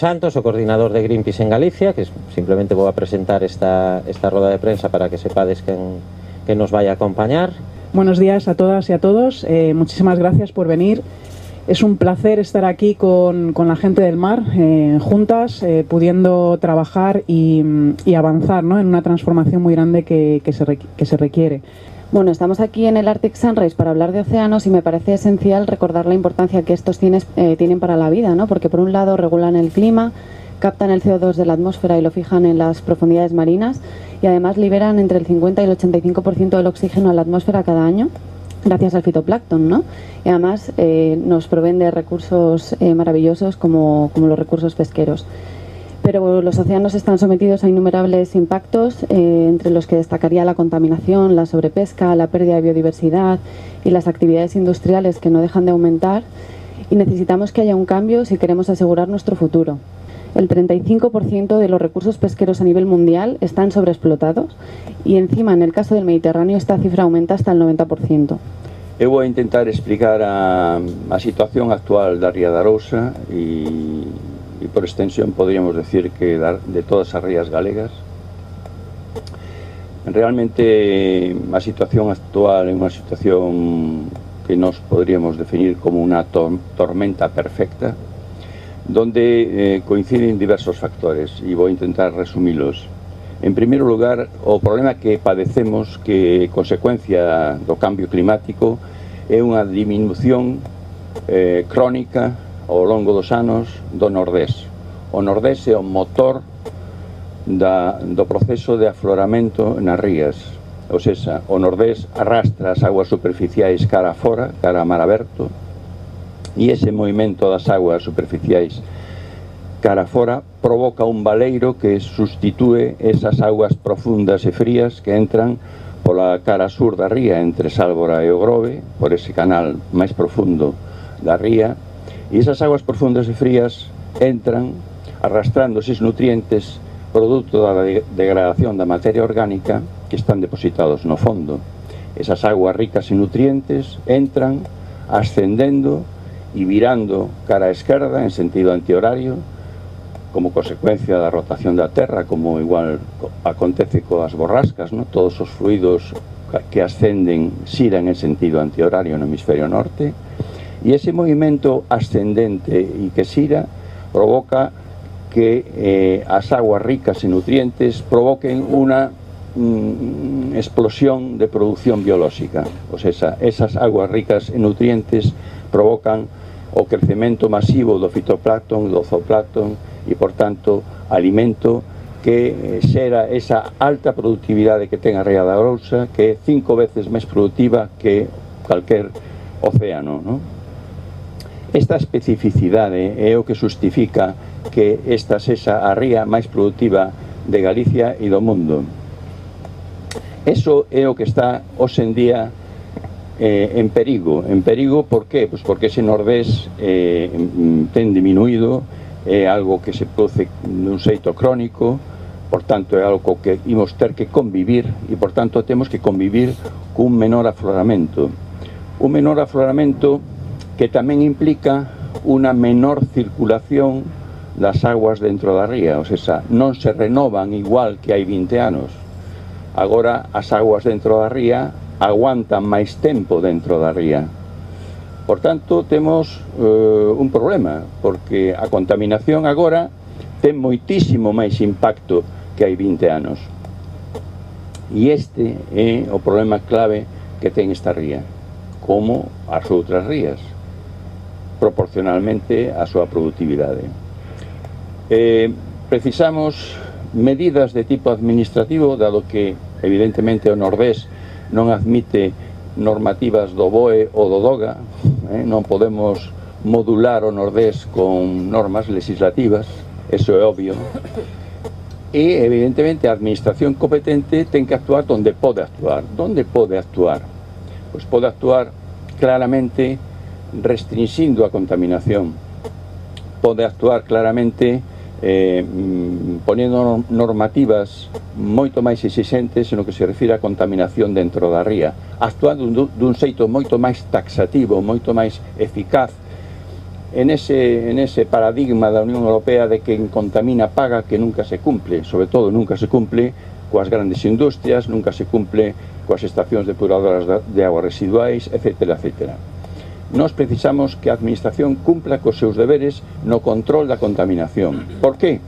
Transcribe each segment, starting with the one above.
Santos, o coordinador de Greenpeace en Galicia, que simplemente voy a presentar esta rueda de prensa para que sepáis que nos vaya a acompañar. Buenos días a todas y a todos, muchísimas gracias por venir. Es un placer estar aquí con la gente del mar, juntas, pudiendo trabajar y avanzar, ¿no?, en una transformación muy grande que se requiere. Bueno, estamos aquí en el Arctic Sunrise para hablar de océanos y me parece esencial recordar la importancia que estos tienen para la vida, ¿no? Porque por un lado regulan el clima, captan el CO2 de la atmósfera y lo fijan en las profundidades marinas y además liberan entre el 50 y el 85% del oxígeno a la atmósfera cada año gracias al fitoplancton, ¿no? Y además nos proveen de recursos maravillosos como los recursos pesqueros. Pero los océanos están sometidos a innumerables impactos, entre los que destacaría la contaminación, la sobrepesca, la pérdida de biodiversidad y las actividades industriales que no dejan de aumentar, y necesitamos que haya un cambio si queremos asegurar nuestro futuro. El 35% de los recursos pesqueros a nivel mundial están sobreexplotados y encima en el caso del Mediterráneo esta cifra aumenta hasta el 90%. Eu vou intentar explicar a situación actual da Ría da Arousa e por extensión podríamos decir que de todas as rías galegas. Realmente a situación actual é unha situación que nos podríamos definir como unha tormenta perfecta, donde coinciden diversos factores e vou intentar resumilos. En primeiro lugar, o problema que padecemos que consecuencia do cambio climático é unha diminución crónica ao longo dos anos do Nordés. O Nordés é o motor do proceso de afloramento nas rías. Ou seja, o Nordés arrastra as aguas superficiais cara fora, cara a mar aberto, e ese movimento das aguas superficiais cara fora provoca un baleiro que sustitúe esas aguas profundas e frías que entran pola cara sur da ría, entre Sálvora e o Grove, por ese canal máis profundo da ría. E esas aguas profundas e frías entran arrastrando eses nutrientes produto da degradación da materia orgánica que están depositados no fondo. Esas aguas ricas en nutrientes entran ascendendo e virando cara á esquerda en sentido antihorario como consecuencia da rotación da Terra, como igual acontece coas borrascas, ¿no? Todos os fluidos que ascenden xiran en sentido antihorario no hemisferio norte. E ese movimento ascendente e que xira provoca que as aguas ricas en nutrientes provoquen unha explosión de producción biolóxica. O sea, esas aguas ricas en nutrientes provocan o crecemento masivo do fitoplancton, do zooplancton e, por tanto, alimento que xera esa alta productividade que ten a Ría da Arousa, que é 5 veces máis productiva que calquer océano, ¿no? Esta especificidade é o que justifica que esta sexa a ría máis productiva de Galicia e do mundo. Eso é o que está hoxe en día en perigo. En perigo, por qué? Pues porque ese Nordés ten diminuído, é algo que se produce nun xeito crónico, por tanto é algo que imos ter que convivir e por tanto temos que convivir cun menor afloramento. Un menor afloramento que tamén implica unha menor circulación das aguas dentro da ría, ou sea, non se renovan igual que hai 20 anos. Agora as aguas dentro da ría aguantan máis tempo dentro da ría. Por tanto, temos un problema, porque a contaminación agora ten moitísimo máis impacto que hai 20 anos. E este é o problema clave que ten esta ría, como as outras rías, proporcionalmente á súa productividade. Precisamos medidas de tipo administrativo, dado que, evidentemente, o Nordés non admite normativas do BOE ou do DOGA, non podemos modular o Nordés con normas legislativas, eso é obvio, e, evidentemente, a administración competente ten que actuar donde pode actuar. Donde pode actuar? Pois pode actuar claramente restringindo a contaminación, pode actuar claramente ponendo normativas moito máis exixentes no que se refire a contaminación dentro da ría, actuando dun xeito moito máis taxativo, moito máis eficaz en ese paradigma da Unión Europea de que quen contamina paga, que nunca se cumple, sobre todo nunca se cumple coas grandes industrias, nunca se cumple coas estacións depuradoras de aguas residuais, etc. etc. Nós precisamos que a Administración cumpla cos seus deberes no control da contaminación. Por qué?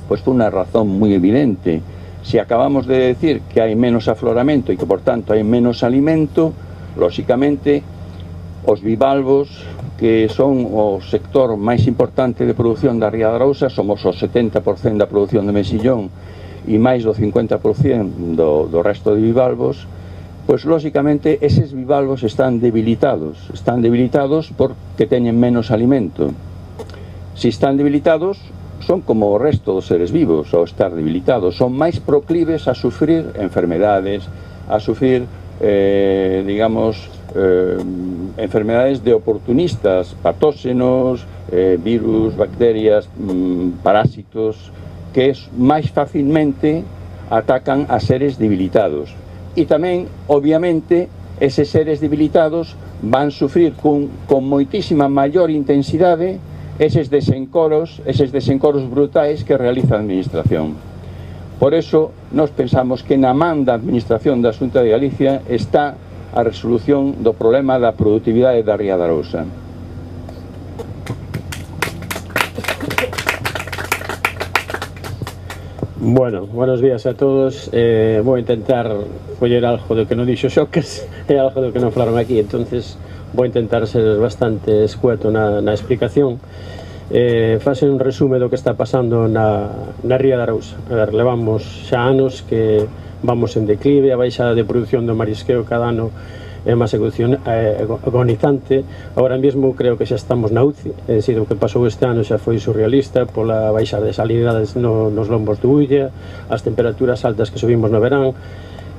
Pois por unha razón moi evidente. Se acabamos de decir que hai menos afloramento e que, por tanto, hai menos alimento, lóxicamente, os bivalvos, que son o sector máis importante de produción da Ría de Arousa, somos o 70% da produción de mexillón e máis do 50% do resto de bivalvos, pois lóxicamente eses bivalvos están debilitados porque teñen menos alimento. Se están debilitados, son como o resto dos seres vivos, ao estar debilitados, son máis proclives a sufrir enfermedades, a sufrir, enfermedades de oportunistas, patóxenos, virus, bacterias, parásitos, que máis facilmente atacan a seres debilitados. E tamén, obviamente, eses seres debilitados van sufrir con moitísima maior intensidade eses desencoros brutais que realiza a Administración. Por eso, nós pensamos que na man da Administración da Xunta de Galicia está a resolución do problema da produtividade da Ría de Arousa. Bueno, buenos días a todos. Vou intentar coller algo do que non dixo Xocas e algo do que non falaron aquí, entonces vou intentar ser bastante escueto na explicación. Fase un resume do que está pasando na Ría de Arousa. A ver, levamos xa anos que vamos en declive, a baixada de produción do marisqueo cada ano é unha execución agonizante. Agora mesmo creo que xa estamos na UCI, é dicir, o que pasou este ano xa foi surrealista pola baixada de salinidades nos lombos de Ulla, as temperaturas altas que subimos no verán,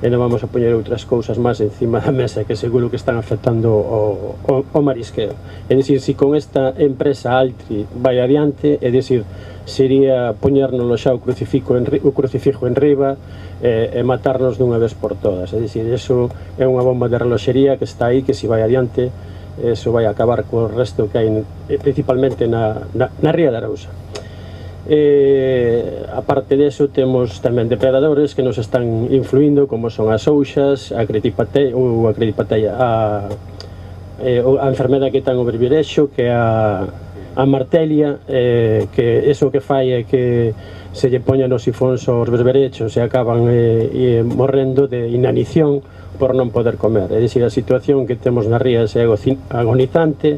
e non vamos a poñer outras cousas máis encima da mesa que seguro que están afectando o marisqueo. É dicir, se con esta empresa Altri vai adiante, é dicir, sería poñérnoslo xa o crucifijo en riba e matarnos dunha vez por todas. É dicir, eso é unha bomba de reloxería que está aí, que se vai adiante, eso vai acabar co resto que hai principalmente na Ría de Arousa. Aparte deso, temos tamén depredadores que nos están influindo, como son as ouxas, a cretipateia, a enfermedade que ten o berberexo, que é a martelia, que eso que fai é que se lle poñan os sifóns aos berberechos e acaban morrendo de inanición por non poder comer. É dicir, a situación que temos na ría é agonizante.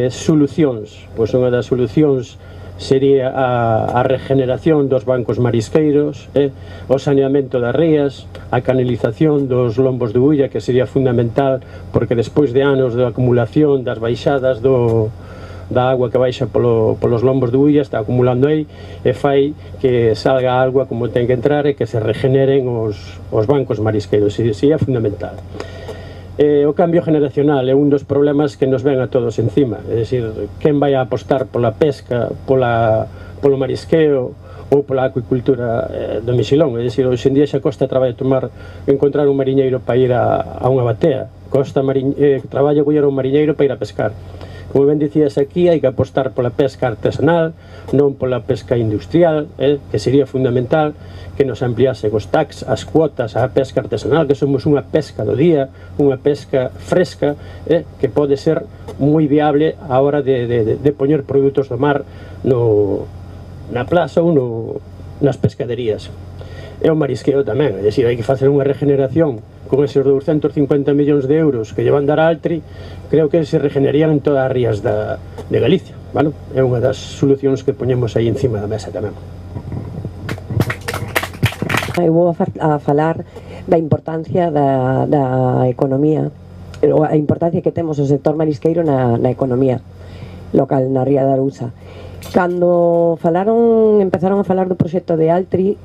Solucións, pois unha das solucións sería a regeneración dos bancos marisqueiros, o saneamento das rías, a canalización dos lombos de Ulla, que sería fundamental, porque despois de anos de acumulación das baixadas da agua que baixa polos lombos de Ulla, está acumulando aí e fai que salga a agua como ten que entrar e que se regeneren os bancos marisqueiros. Sería fundamental. O cambio generacional é un dos problemas que nos ven a todos encima, é dicir, quen vai a apostar pola pesca, polo marisqueo ou pola acuicultura do mexilón. É dicir, hoxe en día xa costa traballo encontrar un mariñeiro para ir a unha batea, costa traballo coller un mariñeiro para ir a pescar. Como ben dicías aquí, hai que apostar pola pesca artesanal, non pola pesca industrial, que sería fundamental que nos ampliase os tax, as cuotas á pesca artesanal, que somos unha pesca do día, unha pesca fresca, que pode ser moi viable a hora de poñer produtos do mar na plaza ou nas pescaderías. E o marisqueo tamén, é dicir, hai que facer unha regeneración con eses 250 millóns de euros que llevan dar a Altri, creo que se regenerarían en todas as rías de Galicia. Bueno, é unha das solucións que poñemos aí encima da mesa tamén. Eu vou a falar da importancia da economía, a importancia que temos o sector marisqueiro na economía local, na Ría de Arousa. Cando empezaron a falar do proxecto de Altri,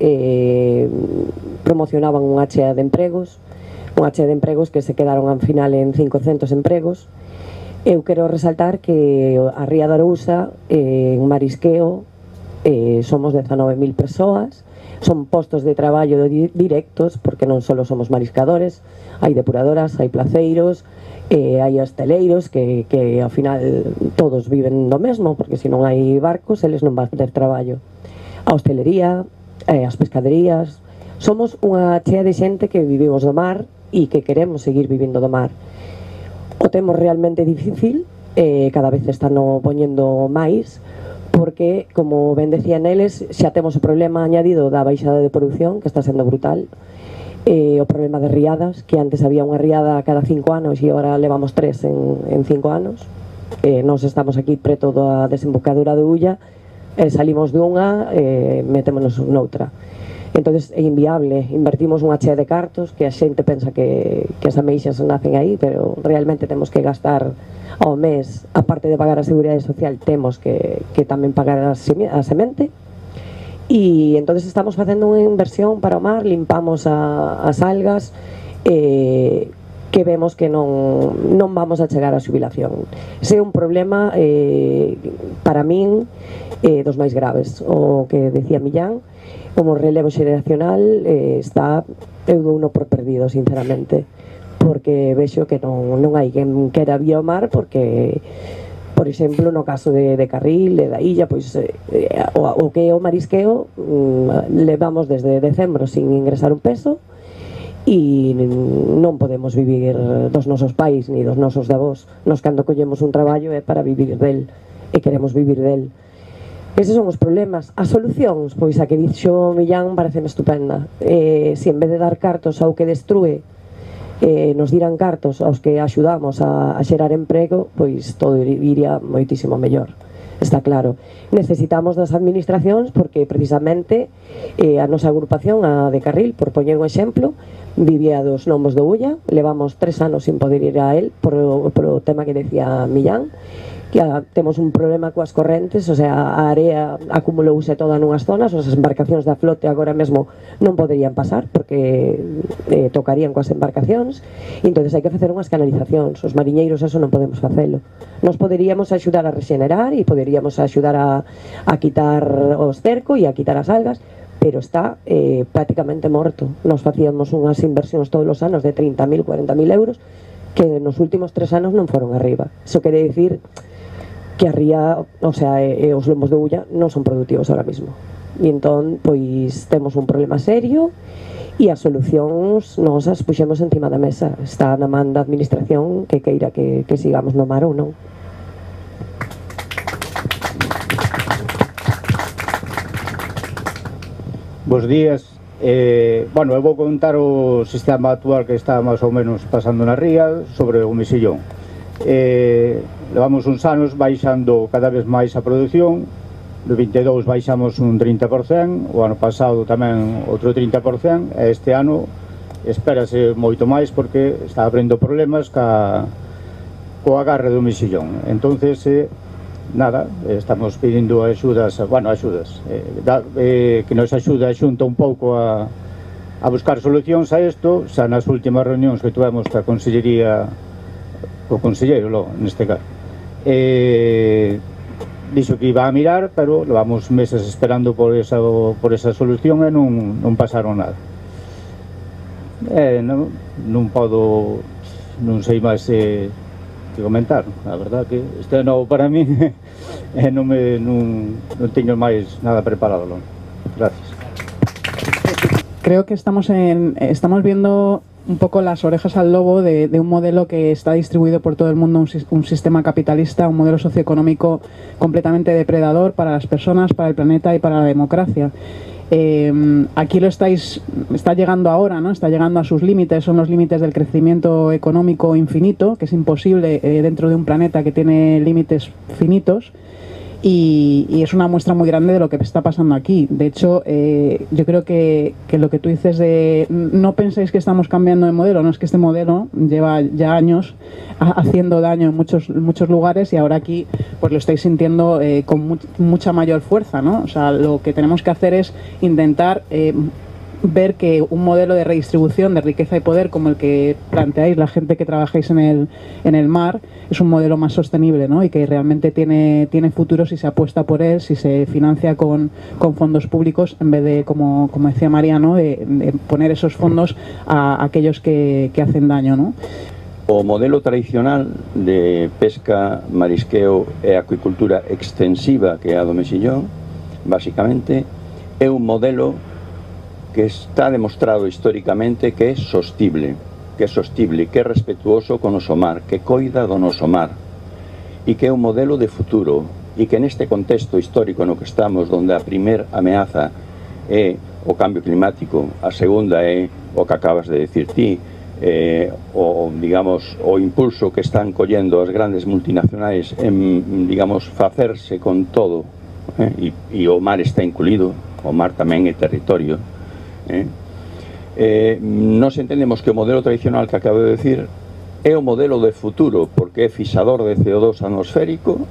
promocionaban un chea de empregos que se quedaron ao final en 500 empregos. Eu quero resaltar que a Ría de Arousa en marisqueo somos 19.000 persoas, son postos de traballo directos, porque non só somos mariscadores, hai depuradoras, hai placeiros, hai hosteleiros que ao final todos viven do mesmo, porque se non hai barcos eles non van ter traballo. A hostelería, as pescaderías, somos unha chea de xente que vivimos do mar e que queremos seguir vivindo do mar. O temos realmente difícil, cada vez están poñendo máis, porque, como ben decían eles, xa temos o problema añadido da baixada de produción, que está sendo brutal, o problema de riadas, que antes había unha riada cada 5 anos e agora levamos 3 en 5 anos. Nos estamos aquí preto da desembocadura de Ulla, salimos de unha, metémonos noutra. Entonces é inviable, invertimos unha chea de cartos que a xente pensa que as ameixas nacen aí, pero realmente temos que gastar ao mes, aparte de pagar a seguridade social, temos que tamén pagar a semente, e entonces estamos facendo unha inversión para o mar, limpamos as algas, que vemos que non vamos a chegar á xubilación. Ese é un problema para min dos máis graves. O que decía Millán, como relevo xeracional está, eu dou uno por perdido, sinceramente, porque vexo que non hai quen quera vir ao mar, porque, por exemplo, no caso de Carril e da illa, pois o que é o marisqueo levamos desde decembro sin ingresar un peso, e non podemos vivir dos nosos pais ni dos nosos avós. Nos, cando collemos un traballo, é para vivir del, e queremos vivir del. Eses son os problemas. As solucións, pois a que dixo Millán pareceme estupenda. Se en vez de dar cartos ao que destrue, nos dirán cartos aos que axudamos a xerar emprego, pois todo iría moitísimo mellor. Está claro. Necesitamos das administracións, porque precisamente a nosa agrupación, a de Carril, por poñer un exemplo, vivía dos Gnomos do Ulla, levamos 3 anos sin poder ir a él por o tema que decía Millán, que temos un problema coas correntes, o sea, a area acumulouse toda nunhas zonas, as embarcacións da flote agora mesmo non poderían pasar porque tocarían coas embarcacións, e entonces hai que facer unhas canalizacións. Os mariñeiros eso non podemos facelo. Nos poderíamos axudar a rexenerar e poderíamos axudar a quitar os cerco e a quitar as algas, pero está prácticamente morto. Nos facíamos unhas inversións todos os anos de 30.000, 40.000 euros que nos últimos 3 anos non foron arriba. Iso quere dicir que a ría, o sea, os lomos de Ulla non son productivos ahora mismo. E entón, pois, temos un problema serio e as solucións nos as puxemos encima da mesa. Está na man da administración que queira que sigamos no mar ou non. Bos días. Bueno, eu vou contar o sistema actual que está máis ou menos pasando na ría sobre o mesillón. Levamos uns anos baixando cada vez máis a produción. No 22 baixamos un 30%, o ano pasado tamén outro 30%, e este ano espérase moito máis porque está abrindo problemas co agarre do mesillón. Entonces, nada, estamos pedindo axudas, bueno, axudas, que nos axuda a Xunta un pouco a buscar solucións a isto. Xa nas últimas reunións que tuvemos ca Consellería, o conselleiro, neste caso, dixo que iba a mirar, pero levamos meses esperando por esa solución e non pasaron nada. Non podo, non sei máis que comentar. A verdad que isto é novo para mí e non teño máis nada preparado. Gracias. Creo que estamos viendo un poco las orejas al lobo de un modelo que está distribuido por todo el mundo, un sistema capitalista, un modelo socioeconómico completamente depredador para las personas, para el planeta y para la democracia. Aquí está llegando ahora, ¿no? Está llegando a sus límites, son los límites del crecimiento económico infinito, que es imposible dentro de un planeta que tiene límites finitos. Y es una muestra muy grande de lo que está pasando aquí. De hecho, yo creo que lo que tú dices de no penséis que estamos cambiando de modelo, no, es que este modelo lleva ya años haciendo daño en muchos lugares, y ahora aquí pues lo estáis sintiendo con mucha mayor fuerza, ¿no? O sea, lo que tenemos que hacer es intentar ver que un modelo de redistribución de riqueza y poder como el que planteáis la gente que trabajáis en el mar es un modelo más sostenible, ¿no? Y que realmente tiene futuro si se apuesta por él, si se financia con fondos públicos en vez de, como decía Mariano, de poner esos fondos a aquellos que hacen daño, ¿no? O modelo tradicional de pesca, marisqueo e acuicultura extensiva que é a do mexillón, basicamente, é un modelo que está demostrado históricamente que é sostible, que é respetuoso con o noso mar, que coida do noso mar, e que é un modelo de futuro, e que neste contexto histórico no que estamos, onde a primeira ameaza é o cambio climático, a segunda é o que acabas de decir ti, o impulso que están collendo as grandes multinacionais en, digamos, facerse con todo, e o mar está incluído, o mar tamén é territorio. Nos entendemos que o modelo tradicional que acabo de decir é o modelo de futuro porque é fixador de CO2 atmosférico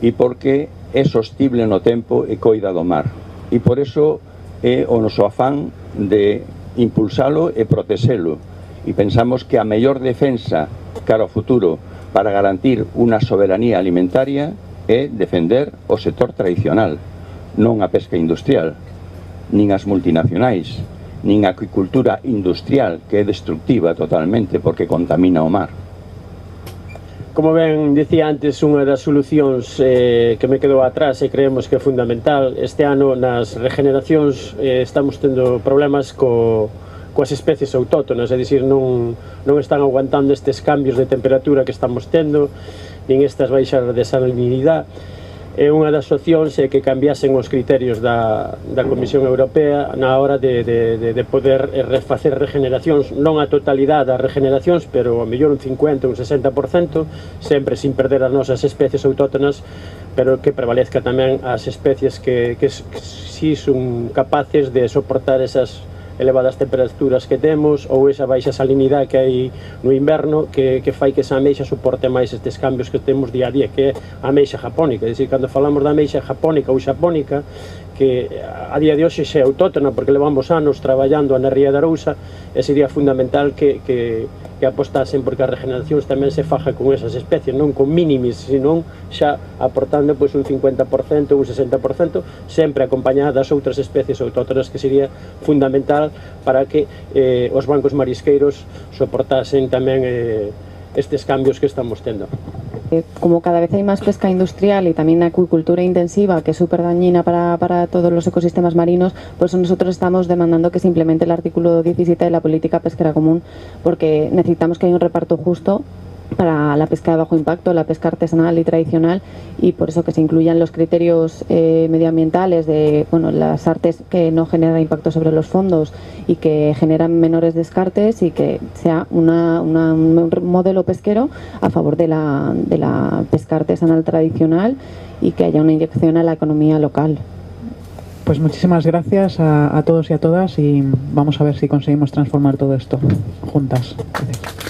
e porque é sostible no tempo e coida do mar, e por eso é o noso afán de impulsalo e protexelo, e pensamos que a mellor defensa cara ao futuro para garantir unha soberanía alimentaria é defender o sector tradicional, non a pesca industrial, nin as multinacionais, nin a acuicultura industrial, que é destructiva totalmente porque contamina o mar. Como ben dicía antes, unha das solucións que me quedou atrás e creemos que é fundamental, este ano nas regeneracións estamos tendo problemas coas especies autóctonas, é dicir, non están aguantando estes cambios de temperatura que estamos tendo, nin estas baixas de salinidade. E unha das opcións é que cambiasen os criterios da Comisión Europea na hora de poder facer regeneracións, non a totalidade das regeneracións, pero a mellor un 50, un 60%, sempre sin perder as nosas especies autóctonas, pero que prevalezca tamén as especies que si son capaces de soportar esas elevadas temperaturas que temos ou esa baixa salinidade que hai no inverno que fai que esa ameixa soporte máis estes cambios que temos día a día, que é a ameixa japónica. É dicir, cando falamos da ameixa japónica ou xapónica, que a día de hoxe xe é autóctona porque levamos anos traballando na Ría de Arousa, e sería fundamental que apostasen porque as regeneracións tamén se faja con esas especies, non con mínimis, senón xa aportando pois, un 50% ou un 60%, sempre acompañada das outras especies autóctonas, que sería fundamental para que os bancos marisqueiros soportasen tamén estes cambios que estamos tendo. Como cada vez hay más pesca industrial y también acuicultura intensiva, que es súper dañina para todos los ecosistemas marinos, por eso nosotros estamos demandando que se implemente el artículo 17 de la política pesquera común, porque necesitamos que haya un reparto justo para la pesca de bajo impacto, la pesca artesanal y tradicional, y por eso que se incluyan los criterios medioambientales de las artes que no generan impacto sobre los fondos y que generan menores descartes, y que sea un modelo pesquero a favor de la pesca artesanal tradicional, y que haya una inyección a la economía local. Pues muchísimas gracias a todos y a todas, y vamos a ver si conseguimos transformar todo esto juntas. Gracias.